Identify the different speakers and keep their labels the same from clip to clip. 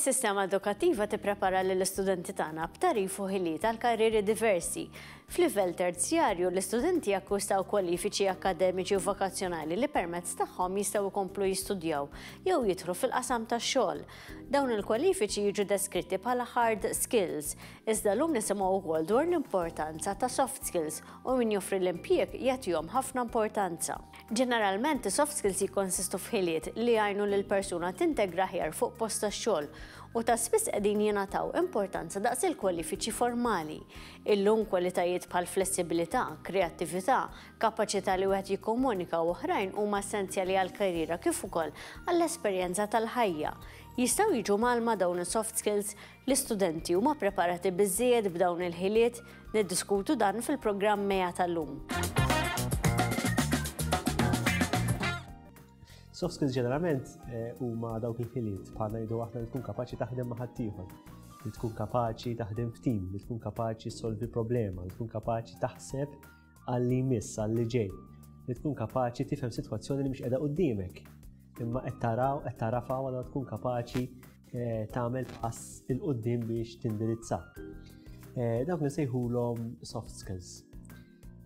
Speaker 1: Is-sistema edukattiva tipprepara lill-istudenti tagħna b'tagħrif u ħiliet għal karrieri diversi. F'livell terzjarju, l-istudenti jakkwistaw kwalifiċi akkademiċi u vokazzjonali li permezz tagħhom jistgħu jkomplu jistudjaw jew jidħlu fil-qasam tax-xogħol. Dawn il-kwalifiċi jiġu deskritti bħala hard skills, iżda llum nisimgħu wkoll dwar l-importanza ta' soft skills u min joffri l-impjieg jagħtihom ħafna importanza. Ġeneralment, is-soft skills jikkonsistu f'ħiliet li jgħinu lill-persuna tintegra aħjar fuq post tax-xogħol u ta' spiss qegħdin jingħataw importanza daqs il-kwalifiċi formali. Illum kwalitajiet bħal flessibilità, kreattività, kapaċità li wieħed jikkomunika u oħrajn huma essenzjali għall-karriera kif ukoll għall-esperjenza tal-ħajja. Jistgħu jiġu mgħallma dawn is-soft skills? L-istudenti huma preparati biżżejjed b'dawn il-ħiliet? Niddiskutu dan fil-programm MEA tal-lum.
Speaker 2: Soft skills ġeneralment eh, huma dawk il-ħiliet bħal ngħidu aħna li tkun kapaċi taħdem ma' ħaddieħor, li tkun kapaċi taħdem f'tim, li tkun kapaċi solvi problema, li tkun kapaċi taħseb għal li jmiss, għal li ġej, li tkun kapaċi tifhem sitwazzjoni li mhix qiegħda quddiemek, imma qed taraw, qed tarafa u tkun kapaċi eh, tagħmel pass il quddiem biex tindirizza. Eh, dawk nsejħulhom soft skills.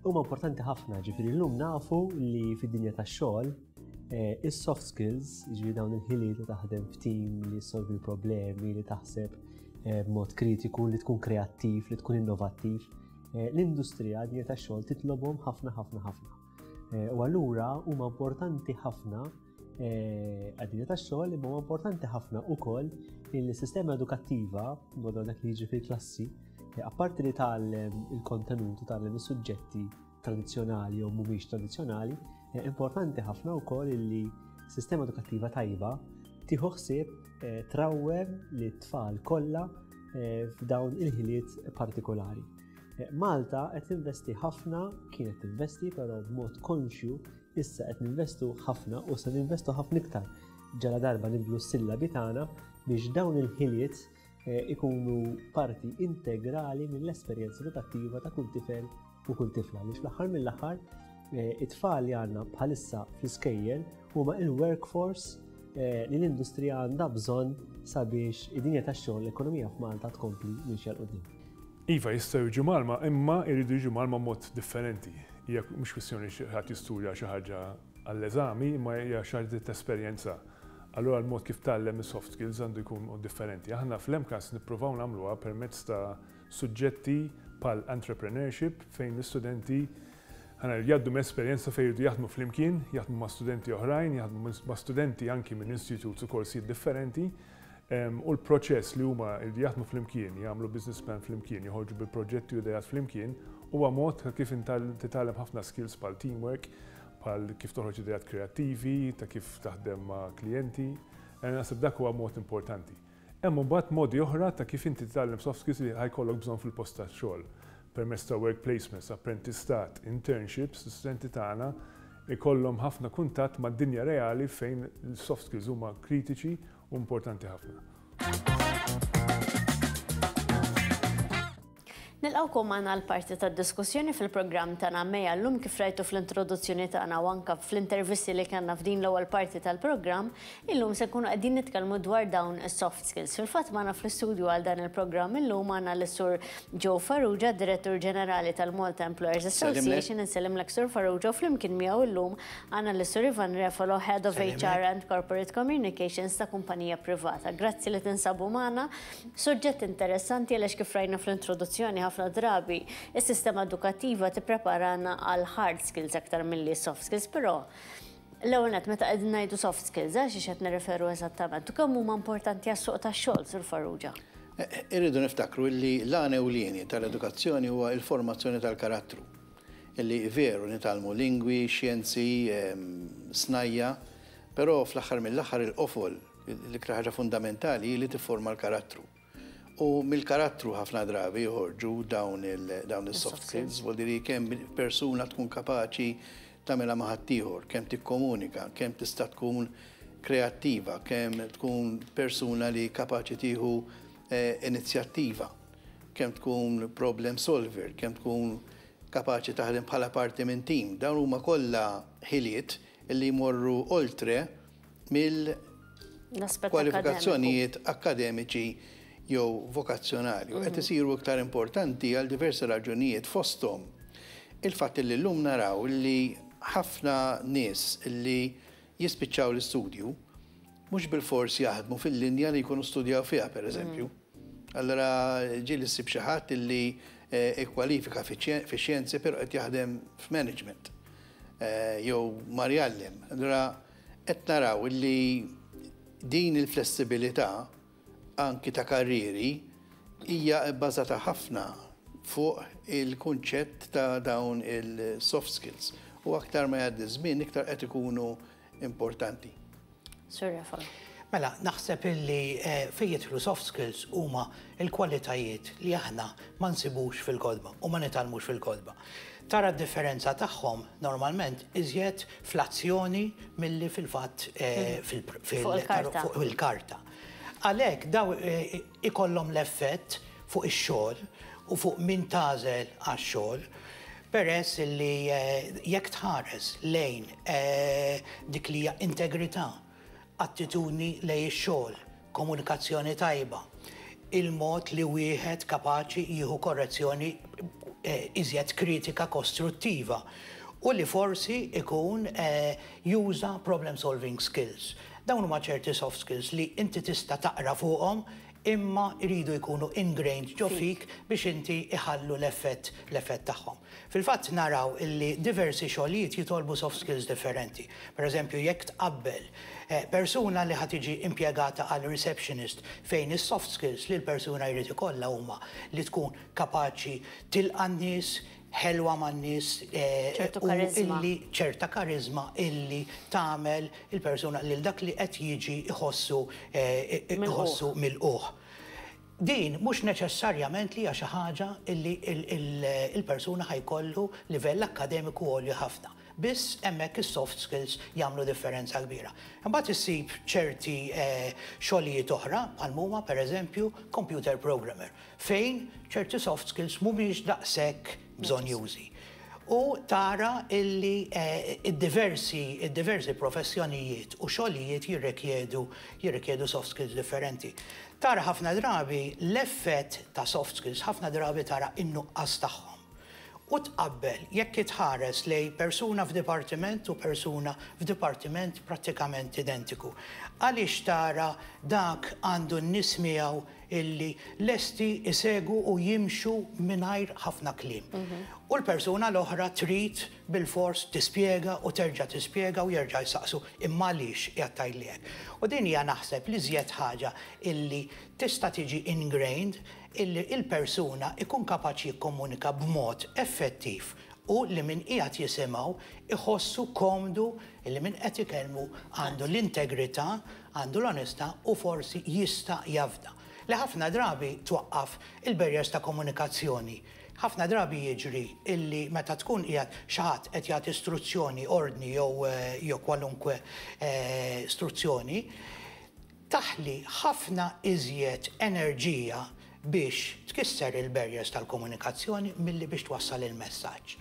Speaker 2: Huma importanti ħafna, ġifieri llum nafu li fid-dinja tax-xogħol eh, is-soft skills, ġifieri dawn il-ħiliet li taħdem f'tim, li solvi l-problemi, li taħseb b'mod kritiku, li tkun kreattiv, li tkun innovattiv, l-industrija dinja tax-xogħol titlobhom ħafna ħafna ħafna. U allura huma importanti ħafna Eh, għad-dinja tax-xogħol imma huwa importanti ħafna ukoll li s-sistema edukattiva madwar dak li jiġri fil-klassi, eh, apparti li tgħallem il-kontenut u tgħallem is-suġġetti tradizzjonali jew mhumiex tradizzjonali, eh, importanti ħafna wkoll li sistema edukattiva tajba tieħu ħsieb trawwem li t-tfal kollha f'dawn il-ħiliet partikolari. Malta qed tinvesti ħafna, kienet tinvesti però b'mod konxju Issa qed ninvestu ħafna u se ninvestu ħafna iktar ġala darba nibdlu s-sillabi tagħna biex dawn il-ħiliet eh, ikunu parti integrali mill-esperjenza edukattiva ta' kull tifel u kull tifla. Għaliex fl-aħħar mill-aħħar eh, it-tfal li għandna bħalissa fl-iskejjel huma il-workforce eh, li l-industrija għandha bżonn sabiex id-dinja tax-xogħol l-ekonomija f'Malta tkompli mixja 'l quddiem.
Speaker 3: Iva, jistgħu jiġu mgħallma, imma jridu jiġu mgħallma b'mod differenti. Hija mhux kwistjoni xi ħadd jistudja xi ħaġa għall-eżami, imma hija xi ħaġa li tesperjenza. Allura l-mod kif tgħallem is-soft skills għandu jkun mod differenti. Aħna fl-MCAST nippruvaw nagħmluha permezz ta' suġġetti bħal entrepreneurship fejn l-istudenti ħa ngħidu jgħaddu minn esperjenza fejn jridu jaħdmu flimkien, jaħdmu ma' studenti oħrajn, jaħdmu ma' studenti anki minn institutes u korsijiet differenti U l-proċess li huma jridu jaħdmu flimkien, jagħmlu business plan flimkien, joħorġu bi proġetti u ideat flimkien, huwa mod ta' kif titgħallem ħafna skills bħal teamwork, bħal kif toħroġ ideat kreattivi, ta' kif taħdem ma' klijenti. Naħseb dak huwa mod importanti. Hemm imbagħad modi oħra ta' kif inti titgħallem soft skills li ħa jkollok bżonn fil-post tax-xogħol. Permezz ta' work placements, apprentistat, internships, l-istudenti tagħna ikollhom ħafna kuntatt mad-dinja reali fejn l-soft skills huma kritiċi u importanti ħafna.
Speaker 1: Nilqgħukom magħna għal parti tad-diskussjoni fil-programm tagħna Meja llum kif rajtu fl-introduzzjoni tagħna u anke fl-intervisti li kellna f'din l-ewwel parti tal-programm, illum se nkunu qegħdin nitkellmu dwar dawn is-soft skills. Fil-fatt magħna fl-istudju għal dan il-programm illum għandna lis-Sur Joe Farrugia, Direttur Ġenerali tal-Malta Employers Association, insellimlek Sur Farrugia u flimkien miegħu illum Għandna lis-Sur Ivan Refalo, Head of HR and Corporate Communications ta' kumpanija privata. Grazzi li tinsabu magħna. Suġġett interessanti għaliex kif rajna fl-introduzzjoni ħafna drabi is-sistema edukattiva tippreparana għal hard skills aktar milli soft skills, però l-ewwel nett meta qegħdin ngħidu soft skills għal xiex qed nirreferu eżattament u kemm huma importanti għas-suq tax-xogħol, Sur Farrugia?
Speaker 4: Irridu niftakru li l-għan ewlieni tal-edukazzjoni huwa l-formazzjoni tal-karattru. Illi veru nitgħallmu lingwi, xjenzi, snajja, però fl-aħħar mill-aħħar il-qofol, l-iktar ħaġa fundamentali hi li tifforma l-karattru. U mill-karattru ħafna drabi joħorġu dawn is-soft skills, vuol dire kemm persuna tkun kapaċi tagħmilha ma' ħaddieħor, kemm tikkomunika, kemm tista' tkun kreattiva, kemm tkun persuna li kapaċi tieħu inizjattiva. kemm tkun problem solver, kemm tkun kapaċi taħdem bħala parti minn tim. Dawn huma kollha ħiliet li jmorru oltre mill kwalifikazzjonijiet akkademiċi jew vokazzjonali. U qed isiru iktar importanti għal diversi raġunijiet, fosthom il-fatt li llum naraw li ħafna nies li jispiċċaw l-istudju mhux bilfors jaħdmu fil-linja li jkunu studjaw fiha, pereżempju. Allura ġieli ssib xi ħadd li ikkwalifika fix-xjenzi però qed jaħdem f'management jew mar jgħallem. Allura qed naraw li din il-flessibilità anki ta' karrieri hija bbażata ħafna fuq il-kunċett ta' dawn il-soft skills u aktar ma jgħaddi żmien iktar qed ikunu importanti.
Speaker 1: Sur Rafal.
Speaker 5: Mela, naħseb illi fejn jidħlu soft skills huma l-kwalitajiet li aħna ma nsibux fil-kotba u ma nitgħallmux fil-kotba. Tara d-differenza tagħhom normalment iżjed fl-azzjoni milli fil-fatt fuq il-karta. Għalhekk daw ikollhom l-effett fuq ix-xogħol u fuq min tagħżel għax-xogħol, peress li jekk tħares lejn dik li hija integrità, attitudni lejn ix-xogħol, komunikazzjoni tajba, il-mod li wieħed kapaċi jieħu korrezzjoni iżjed kritika kostruttiva u li forsi ikun juża problem solving skills. Dawn huma ċerti soft skills li inti tista' taqra fuqhom imma jridu jkunu ingrained ġo fik biex inti iħallu l-effett l-effett tagħhom. Fil-fatt naraw illi diversi xogħlijiet jitolbu soft skills differenti. Per eżempju, jekk tqabbel persuna li ħa tiġi impjegata għal receptionist, fejn is-soft skills li l-persuna jrid ikollha huma li tkun kapaċi tilqa' n-nies, ħelwa man-nies
Speaker 1: ċertu
Speaker 5: u
Speaker 1: kariżma.
Speaker 5: Illi ċerta kariżma illi tagħmel il-persuna lil dak li qed jiġi jħossu iħossu milqugħ. Din mhux neċessarjament li hija xi ħaġa illi il-persuna ħa jkollu livell akkademiku għoli ħafna. Biss hemmhekk is-soft skills jagħmlu differenza kbira. Imbagħad issib ċerti xogħlijiet oħra bħal huma, pereżempju, computer programmer, fejn ċerti soft skills mhumiex daqshekk bżonnjużi. U tara illi id-diversi id-diversi professjonijiet u xogħlijiet jirrikjedu soft skills differenti. Tara ħafna drabi l-effett ta' soft skills, ħafna drabi tara in-nuqqas tagħhom. U tqabbel jekk itħares lejn persuna f'dipartiment u persuna f'dipartiment prattikament identiku. Għaliex tara dak għandu n-nies miegħu illi lesti isegwu u jimxu mingħajr ħafna kliem? U l-persuna l-oħra trid bilfors tispjega u terġa' tispjega u jerġa' jsaqsu imma għaliex qiegħed tgħidli hekk. U din hija, naħseb, l-iżjed ħaġa illi tista' tiġi ingrained, illi il-persuna ikun kapaċi jikkomunika b'mod effettiv u li min qiegħed jisimgħu iħossu komdu illi min qed ikellmu għandu l-integrità, għandu l-onestà u forsi jista' jafda. Li ħafna drabi twaqqaf il-barriers ta' komunikazzjoni. Ħafna drabi jiġri illi meta tkun qiegħed xi ħadd qed jagħti istruzzjoni, ordni jew kwalunkwe istruzzjoni, taħli ħafna iżjed enerġija biex tkisser il-barriers tal-komunikazzjoni milli biex twassal il-messaġġ.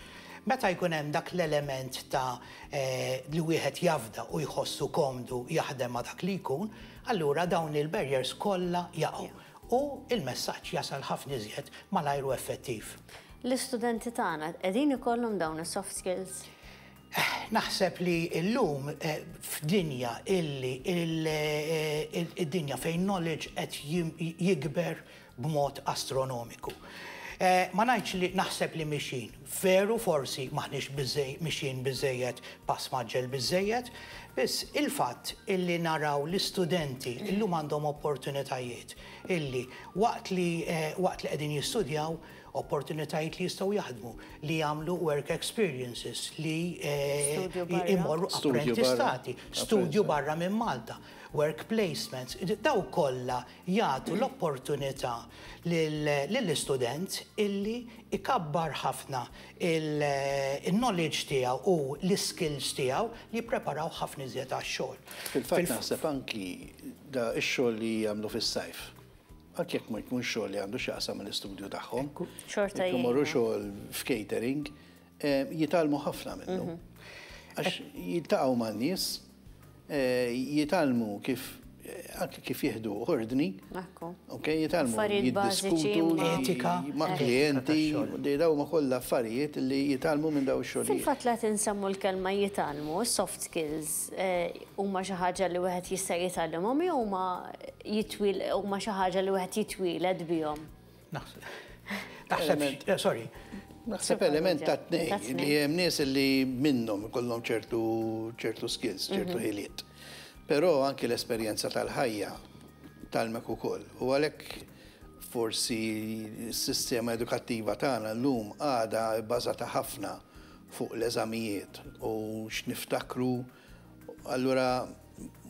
Speaker 5: Meta jkun hemm dak l-element ta' li wieħed jafda u jħossu komdu jaħdem ma' dak li jkun, allura dawn il-barriers kollha jaqgħu u il-messaġġ jasal ħafna iżjed malajr u effettiv.
Speaker 1: L-istudenti tagħna qegħdin ikollhom dawn is-soft skills?
Speaker 5: Naħseb li llum f'dinja illi id-dinja fejn knowledge qed jikber b'mod astronomiku. Ma ngħidx li naħseb li mixin. Veru forsi maħniex mixin biżejjed pass mgħaġġel biżejjed, biss il-fatt illi naraw l-istudenti illum għandhom opportunitajiet illi waqt li qegħdin jistudjaw, opportunitajiet li jistgħu jaħdmu, li jagħmlu work experiences, li
Speaker 1: Studju barra.
Speaker 5: imorru
Speaker 4: Studju barra.
Speaker 5: apprentistati, studju barra minn Malta, work placements, daw kollha jagħtu l-opportunità lill-istudent illi ikabbar ħafna il-knowledge tiegħu u l-skills tiegħu li jippreparaw ħafna iżjed għax-xogħol.
Speaker 4: Fil-fatt naħseb anki da x-xogħol li jagħmlu fis-sajf. Anki jekk ma jkun xogħol li għandu x'jaqsam mill-istudju tagħhom.
Speaker 1: Xorta
Speaker 4: Jekk imorru
Speaker 1: jgħinu.
Speaker 4: xogħol f'catering, jitgħallmu ħafna minnu. Għax jiltaqgħu man-nies, jitgħallmu kif anke kif jieħdu ordni. Ok, jitgħallmu jiddiskutu
Speaker 5: etika
Speaker 4: ma' klijenti, dawn huma kollha affarijiet li jitgħallmu minn dawn ix-xogħlijiet.
Speaker 1: Fil-fatt la tinsemmu l-kelma jitgħallmu, soft skills huma xi ħaġa li wieħed jista' jitgħallimhom jew huma jitwil huma xi ħaġa li wieħed jitwieled bihom?
Speaker 5: Naħseb, sorry.
Speaker 4: Naħseb element ta' tnejn li hemm nies li minnhom ikollhom ċertu ċertu skills, ċertu ħiliet. Però anki l-esperjenza tal-ħajja tgħallmek ukoll. U għalhekk forsi s-sistema edukattiva tagħna llum għadha bbażata ħafna fuq l-eżamijiet u x'niftakru, allura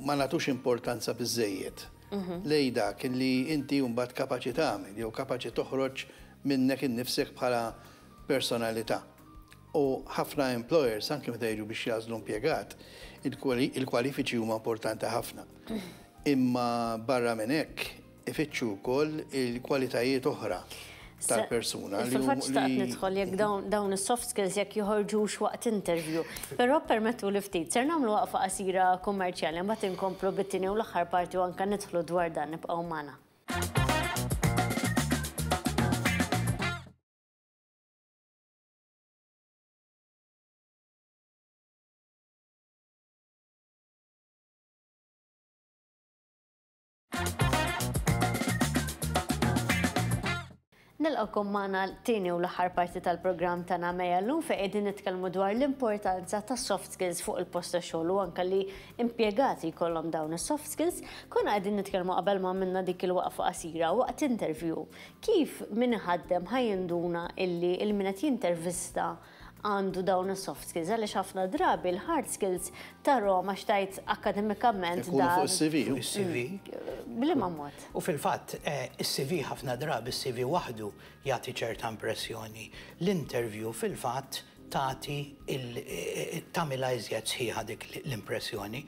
Speaker 4: ma nagħtux importanza biżżejjed lejn dak li inti mbagħad kapaċi tagħmel jew kapaċi toħroġ minnek innifsek bħala personalità. U ħafna employers, anke meta jiġu biex jagħżlu impjegat, il-kwalifiċi huma importanti ħafna. Imma barra minn hekk ifittxu wkoll il-kwalitajiet oħra tal-persuna.
Speaker 1: Fil-fatt xtaqt nidħol jekk dawn is-soft skills jekk joħorġux waqt interview. Però permettu li ftit, ser nagħmlu waqfa qasira kummerċjali, mbagħad inkomplu bit-tieni u l-aħħar parti u anke nidħlu dwar dan, nibqgħu magħna. Nilqgħukom magħna t-tieni u l-aħħar parti tal-programm tagħna Meja llum fejn qegħdin nitkellmu dwar l-importanza ta' soft skills fuq il-post ta' xogħol u anke li impjegati jkollhom dawn is-soft skills. Konna qegħdin nitkellmu qabel ma għamilna dik il-waqfa qasira waqt interview. Kif min iħaddem ħa jinduna illi il-min qed jintervista għandu dawn is-soft skills, għaliex ħafna drabi l-hard skills tarahom għax tgħid akkademikament
Speaker 4: Ikunu fuq is-CV.
Speaker 5: Fuq is-CV.
Speaker 1: B'liema mod?
Speaker 5: U fil-fatt, is-CV ħafna drabi is-CV waħdu jagħti ċerta impressjoni. L-interview fil-fatt tagħti tagħmilha iżjed sħiħa dik l-impressjoni.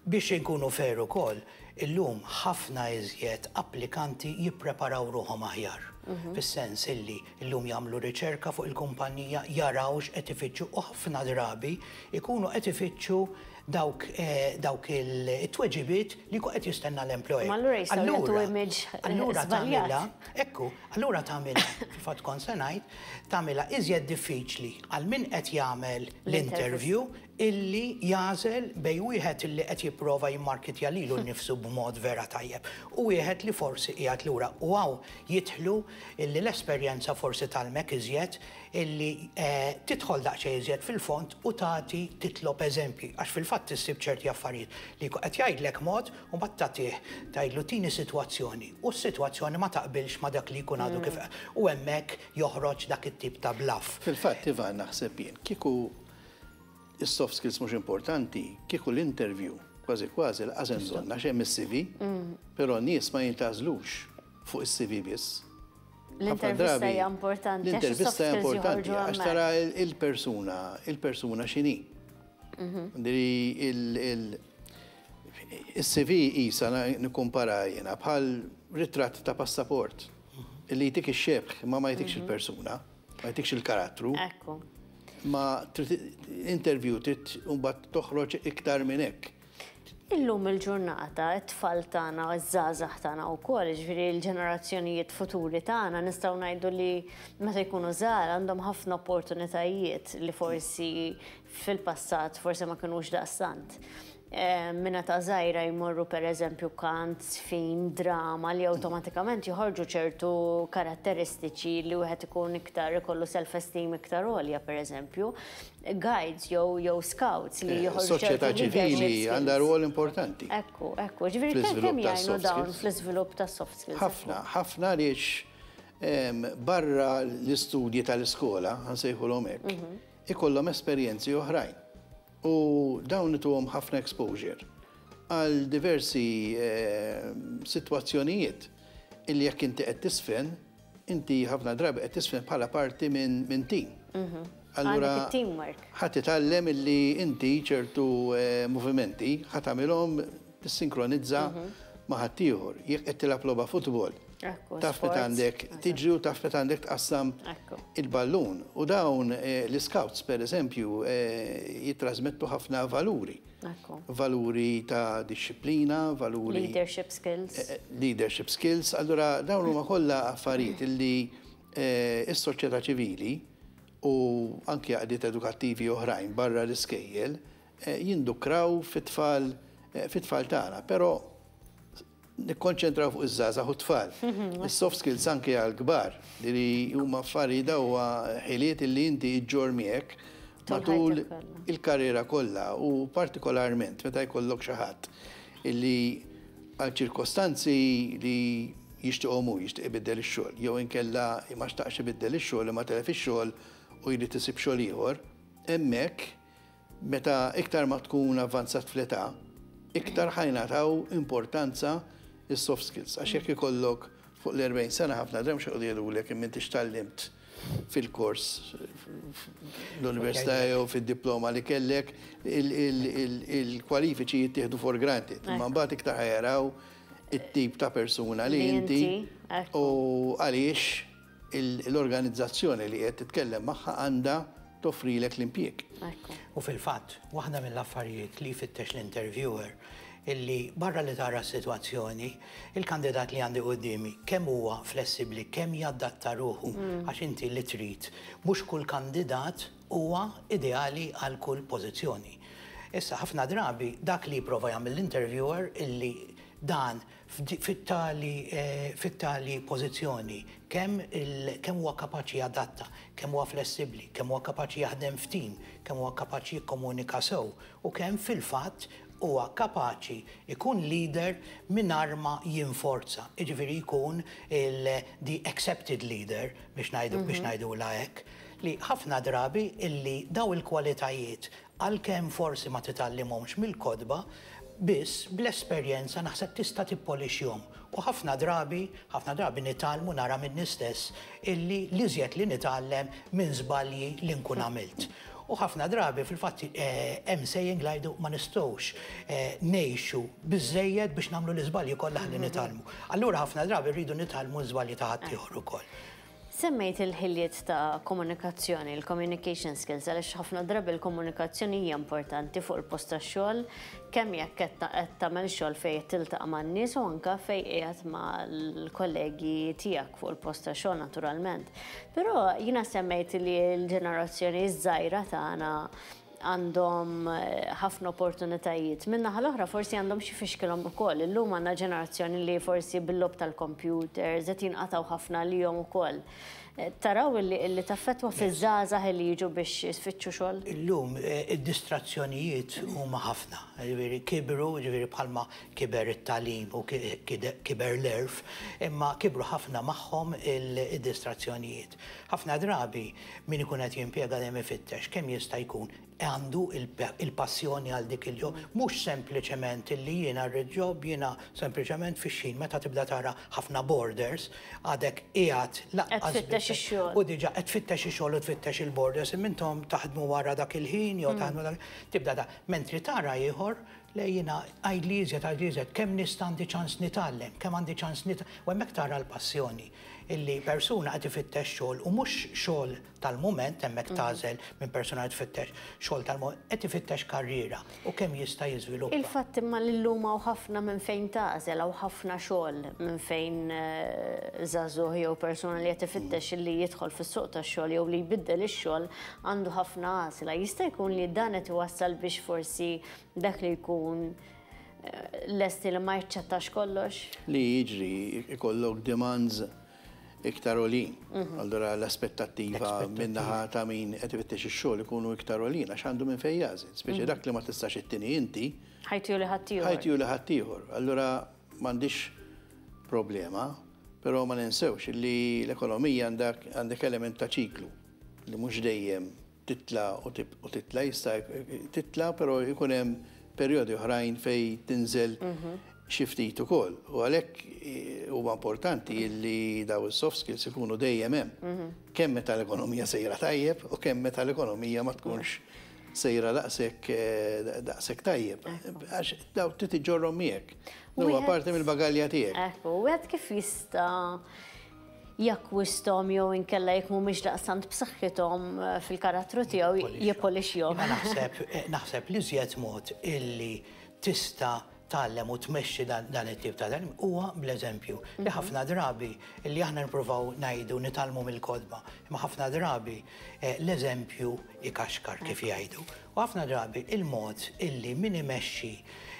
Speaker 5: Biex inkunu fair ukoll, illum ħafna iżjed applikanti jippreparaw ruħhom aħjar. Fis-sens illi illum jagħmlu riċerka fuq il-kumpanija, jaraw x'qed ifittxu u ħafna drabi ikunu qed ifittxu dawk dawk il-tweġibiet li jkun qed jistenna l-employer.
Speaker 1: Ma allura jistgħu jagħtu image
Speaker 5: Allura tagħmilha, ekku, allura tagħmilha, fil-fatt kont se ngħid, tagħmilha iżjed diffiċli għal min qed jagħmel l-interview illi jagħżel bejn wieħed illi qed jipprova jimmarkitja lilu nnifsu b'mod vera tajjeb u wieħed li forsi qiegħed lura. U hawn jidħlu illi l-esperjenza forsi tgħallmek iżjed illi tidħol daqsxejn iżjed fil-fond u tagħti titlob eżempji għax fil-fatt issib ċerti affarijiet li jkun qed jgħidlek mod u mbagħad tagħtih tgħidlu tini sitwazzjoni u s-sitwazzjoni ma taqbilx ma' dak li jkun għadu kif u hemmhekk joħroġ dak it-tip ta' bluff.
Speaker 4: Fil-fatt Ivan naħseb jien kieku is-soft skills mhux importanti, kieku l-interview kważi kważi l-qas hemm bżonn għax hemm is-CV, però n-nies ma jintgħażlux fuq is-CV biss.
Speaker 1: L-intervista hija importanti.
Speaker 4: L-intervista hija importanti għax tara il-persuna, il-persuna x'inhi. Il-CV isa nikkumpara jiena bħal ritratt ta' passaport li jtik ix-xebh ma ma jtikx il-persuna, ma jtikx il-karattru.
Speaker 1: Ekku.
Speaker 4: Ma interview trid mbagħad toħroġ iktar minn hekk.
Speaker 1: Illum il-ġurnata, it-tfal tagħna, iż-żgħażagħ tagħna wkoll, jiġifieri l-ġenerazzjonijiet futuri tagħna, nistgħu ngħidu li meta jkunu żgħar għandhom ħafna opportunitajiet li forsi fil-passat forsi ma kinux daqstant. Minn età żgħira jmorru pereżempju kant, żfin, drama li awtomatikament joħorġu ċertu karatteristiċi li wieħed ikun iktar ikollu self-esteem iktar għolja pereżempju. Guides jew jew scouts li joħorġu
Speaker 4: Soċjetà ċivili għandha rwol importanti.
Speaker 1: Ekku, ekku. Ġifieri kemm jgħinu dawn fl-iżvilupp tas-soft skills?
Speaker 4: Ħafna, ħafna għaliex barra l-istudji tal-iskola, ħa nsejħulhom hekk, ikollhom esperjenzi oħrajn. U dawn ituhom ħafna exposure għal diversi sitwazzjonijiet illi jekk inti qed tisfen, inti ħafna drabi qed tisfen bħala parti minn team. Allura ħa titgħallem illi inti ċertu movimenti ħa tagħmilhom tissinkronizza ma' ħaddieħor. Jekk qed tilgħab logħba futbol. Taf meta għandek tiġri u taf meta għandek tqassam il-ballun. U dawn l-iscouts, per eżempju, jittrasmettu ħafna valuri. Valuri ta' dixxiplina, valuri.
Speaker 1: Leadership skills.
Speaker 4: Leadership skills. Allura dawn huma kollha affarijiet illi s-soċjetà ċivili u anki għaqdiet edukattivi oħrajn barra l-iskejjel jindukraw fit-tfal fit-tfal tagħna. Però nikkonċentraw fuq iż-żgħażagħ u t-tfal. Is-soft skills anke għall-kbar li huma affarijiet huwa ħiliet li inti iġġorr miegħek matul il-karriera kollha u partikolarment meta jkollok xi ħadd illi għal ċirkostanzi li jixtieqhom hu jixtieq ibiddel ix-xogħol jew inkella ma xtaqx ibiddel ix-xogħol imma telef ix-xogħol u jrid isib xogħol ieħor, hemmhekk meta iktar ma tkun avvanzat fl-età, iktar ħa jingħataw importanza s-soft skills. Għax jekk ikollok fuq l-40 sena ħafna drabi mhux ħa jqogħdu jgħidulek imma inti x'tgħallimt fil-kors l-università jew fid-diploma li kellek, il-kwalifiċi jittieħdu for granted. Imma mbagħad iktar ħa jaraw it-tip ta' persuna li inti u għaliex l-organizzazzjoni li qed titkellem magħha għandha toffrilek l-impjieg.
Speaker 5: U fil-fatt, waħda mill-affarijiet li jfittex l-interviewer illi barra li tara s-sitwazzjoni, il-kandidat li għandi quddiemi kemm huwa flessibbli, kemm jadatta ruħu, għax inti li trid, mhux kull kandidat huwa ideali għal kull pożizzjoni. Issa ħafna drabi dak li jipprova jagħmel l-interviewer illi dan fit-tali pożizzjoni kemm huwa kapaċi jadatta, kemm huwa flessibbli, kemm huwa kapaċi jaħdem f'tim, kemm huwa kapaċi jikkomunika sew u kemm fil-fatt huwa kapaċi jkun leader mingħajr ma jinforza. Jiġifieri jkun il-the accepted leader biex ngħidu hekk, li ħafna drabi illi daw il-kwalitajiet, għalkemm forsi ma titgħallimhomx mill-kotba, biss bl-esperjenza naħseb tista' tippolixjhom. U ħafna drabi nitgħallmu, nara minni stess illi l-iżjed li nitgħallem minn żbalji li nkun għamilt. U ħafna drabi fil-fatt hemm saying li jgħidu ma nistgħux ngħixu biżejjed biex nagħmlu l-iżbalji kollha li nitgħallmu. Allura ħafna drabi rridu nitgħallmu żbalji ta' ħaddieħor ukoll.
Speaker 1: Semmejt il-ħiliet ta' komunikazzjoni, il-communication skills, għaliex ħafna drabi il-komunikazzjoni hija importanti fuq il-post tax-xogħol, kemm jekk qed tagħmel xogħol fejn tiltaqa' man-nies u anke fejn qiegħed mal-kollegi tiegħek fuq il-post tax-xogħol naturalment. Però jiena semmejt li l-ġenerazzjoni żgħira tagħna għandhom ħafna opportunitajiet. Min-naħa l-oħra forsi għandhom xi fixkilhom ukoll. Illum għandna ġenerazzjoni li forsi bil-logħob tal-computers qed jinqatgħu ħafna lihom ukoll. Taraw li taffettwa fiż-żgħażagħ li jiġu biex jfittxu xogħol?
Speaker 5: Illum id-distrazzjonijiet huma ħafna. Ġifieri kibru, ġifieri bħalma kiber it-tagħlim u kiber l-għerf, imma kibru ħafna magħhom id-distrazzjonijiet. Ħafna drabi min ikun qed jimpjega dejjem ifittex kemm jista' jkun għandu il-passjoni għal dik il-job, mhux sempliċement illi jiena rrid job, jiena sempliċement fix-xin meta tibda tara ħafna borders, għadek qiegħed
Speaker 1: laqqas.
Speaker 5: U diġà qed tfittex ix-xogħol u tfittex il-borders, imma taħdmu wara dak il-ħin jew taħdmu dak tibda da. Mentri tara ieħor le, jiena għidli iżjed, għidli iżjed, kemm nista' għandi ċans nitgħallem, kemm għandi ċans nitgħallem. U hemmhekk tara l-passjoni illi persuna qed ifittex xogħol u mhux xogħol tal-mument, hemmhekk tagħżel minn persuna qed tfittex xogħol tal-mument, qed ifittex karriera u kemm jista' jiżviluppa.
Speaker 1: Il-fatt imma li llum hawn ħafna minn fejn tagħżel, hawn ħafna xogħol minn fejn żagħżugħ jew persuna li qed ifittex li jidħol fis-suq tax-xogħol jew li jbiddel ix-xogħol għandu ħafna għażla. Jista' jkun li dan qed iwassal biex forsi dak li jkun lesti li ma jaċċettax kollox?
Speaker 4: Li jiġri ikollok demands iktar għolin. Allura l-aspettattiva min-naħa ta' min qed ifittex ix-xogħol ikunu iktar għolin għax għandu minn fejn jagħżel. Speċi dak li ma tistax ittini inti.
Speaker 1: Ħa jtih lil ħaddieħor.
Speaker 4: Ħa jtih lil ħaddieħor. Allura m'għandix problema, però ma ninsewx li l-ekonomija għandek element ta' ċiklu li mhux dejjem titla u titla, jista' titla, però jkun hemm perjodi oħrajn fejn tinżel xi ftit ukoll. U għalhekk huwa importanti li daw is-soft skills ikunu dejjem hemm. Kemm meta l-ekonomija sejra tajjeb u kemm meta l-ekonomija ma tkunx sejra daqshekk daqshekk tajjeb. Għax daw trid iġġorrhom miegħek. Huwa parti mill-bagalja tiegħek.
Speaker 1: Ekku, wieħed kif jista' jakkwisthom jew inkella jekk mhumiex daqstant b'saħħithom fil-karattru tiegħu jippolixxihom.
Speaker 5: Naħseb naħseb li żjed mod illi tista' tgħallem u tmexxi dan it-tip ta' tagħlim huwa bl-eżempju. Li ħafna drabi illi aħna nippruvaw ngħidu nitgħallmu mill-kotba, imma ħafna drabi l-eżempju ikaxkar kif jgħidu. U ħafna drabi il-mod illi min imexxi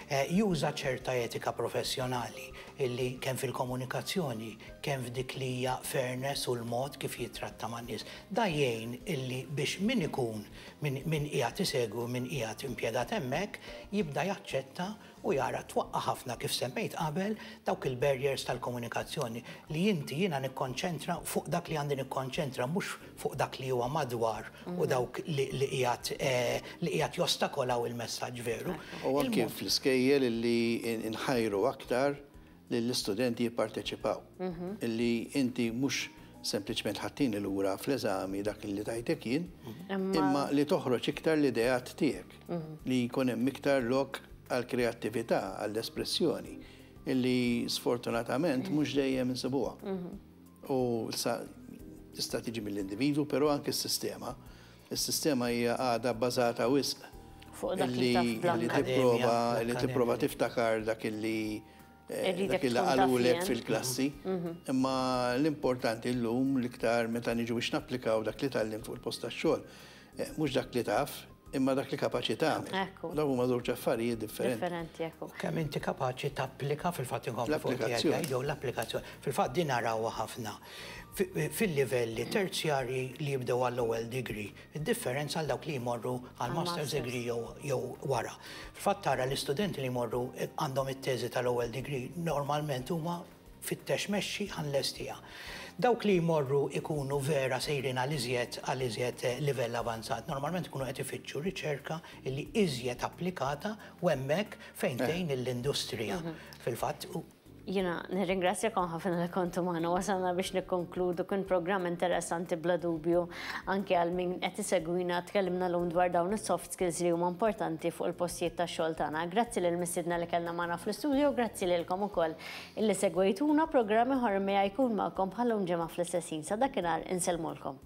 Speaker 5: juża ċerta etika professjonali illi kemm fil-komunikazzjoni, kemm f'dik li hija fairness u l-mod kif jitratta man-nies. Da jgħin illi biex min ikun min qiegħed isegwi, min qiegħed impjegat hemmhekk jibda jaċċetta u jara twaqqa ħafna kif semmejt qabel dawk il-barriers tal-komunikazzjoni li inti jiena nikkonċentra fuq dak li għandi nikkonċentra, mhux fuq dak li huwa madwar u dawk li qiegħed jostakolaw il-messaġġ veru.
Speaker 4: U anke fl-iskejjel illi nħajru aktar lill-istudenti jipparteċipaw. Illi inti mhux sempliċement ħa ttini lura fl-eżami dak li tajtek jien, imma li toħroġ iktar l-ideat tiegħek, li jkun hemm iktar lok għal-kreattività, għall-espressjoni, illi sfortunatament mhux dejjem insibuha. U sa tista' tiġi mill-individu, però anke s-sistema. Is-sistema hija għadha bbażata wisq
Speaker 1: fuq dak li taf
Speaker 4: li tipprova li tipprova tiftakar dak illi dak illi qalulek fil-klassi. Imma l-importanti llum l-iktar meta niġu biex napplikaw dak li tgħallimt fuq il-post tax-xogħol. Mhux dak li taf, imma dak li kapaċi tagħmel. Dawn huma żewġ affarijiet differenti.
Speaker 1: Differenti, ekku.
Speaker 5: Kemm inti kapaċi tapplika fil-fatt inkomplu fuq
Speaker 4: L-applikazzjoni.
Speaker 5: Jew l-applikazzjoni. Fil-fatt din narawha ħafna fil-livelli terzjarji li jibdew għall-ewwel degree, id-differenza għal dawk li jmorru għal master's degree jew wara. Fil-fatt tara l-istudenti li jmorru għandhom it-teżi tal-ewwel degree normalment huma fittex mexxi ħa nlestiha. Dawk li jmorru ikunu vera sejrin għal iżjed livell avanzat, normalment ikunu qed ifittxu riċerka illi iżjed applikata u hemmhekk fejn tgħin l-industrija. Fil-fatt
Speaker 1: Jiena nirringrazzjakom ħafna li kontu magħna. Wasalna biex nikkonkludu. Kien programm interessanti bla dubju anke għal min qed isegwina. Tkellimna llum dwar dawn is-soft skills li huma importanti fuq il-postijiet tax-xogħol tagħna. Grazzi lil mistiedna li kellna magħna fl-istudio, grazzi lilkom ukoll illi segwejtuna. Programm ieħor miegħi jkun magħkom bħal ġimgħa fl-istess ħin. Sa dakinhar insellmulkom.